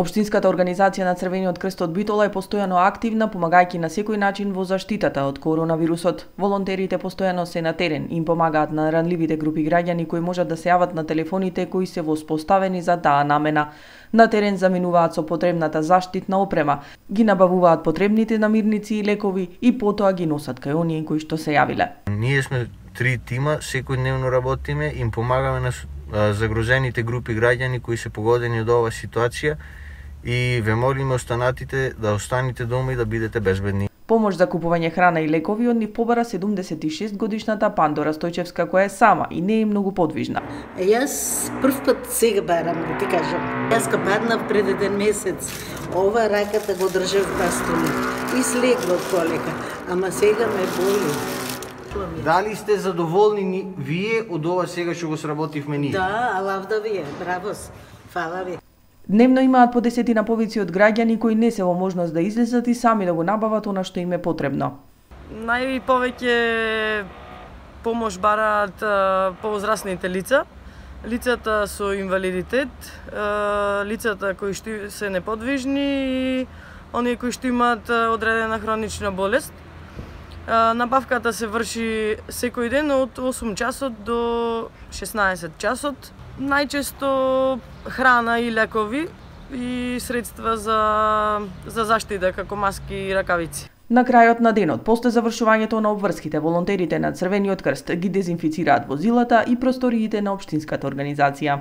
Општинската организација на Црвениот крст од Битола е постојано активна, помагајќи на секој начин во заштитата од коронавирусот. Волонтерите постојано се на терен и им помагаат на ранливите групи граѓани кои можат да се јават на телефоните кои се воспоставени за таа намена. На терен заминуваат со потребната заштитна опрема, ги набавуваат потребните намирници и лекови и потоа ги носат кај оние кои што се јавиле. Ние сме 3 тима, секојдневно работиме, им помагаме на загрозените групи граѓани кои се погодени од оваа ситуација и ве молиме останатите да останете дома и да бидете безбедни. Помош за купување храна и лекови од нив побара 76 годишната Пандора Стојчевска, која е сама и не е многу подвижна. Јас прв пат сега барам, да ти кажам. Јас паднав пред еден месец. Ова раката го држав бастуни и слегло полека, ама сега ме боли. Дали сте задоволни вие од ова сега што го сработивме ние? Да, алавда вие, браво, фала ви. Дневно имаат по 10 повици од граѓани кои не се во можност да излезат и сами да го набават она што им е потребно. Најповеќе помош бараат повозрастните лица, лицата со инвалидитет, лицата кои што се неподвижни и оние кои што имаат одредена хронична болест. Набавката се врши секој ден од 8 часот до 16 часот. Најчесто храна и лекови и средства за заштита како маски и ракавици. На крајот на денот, после завршувањето на обврските, волонтерите на Црвениот крст ги дезинфицираат возилата и просториите на општинската организација.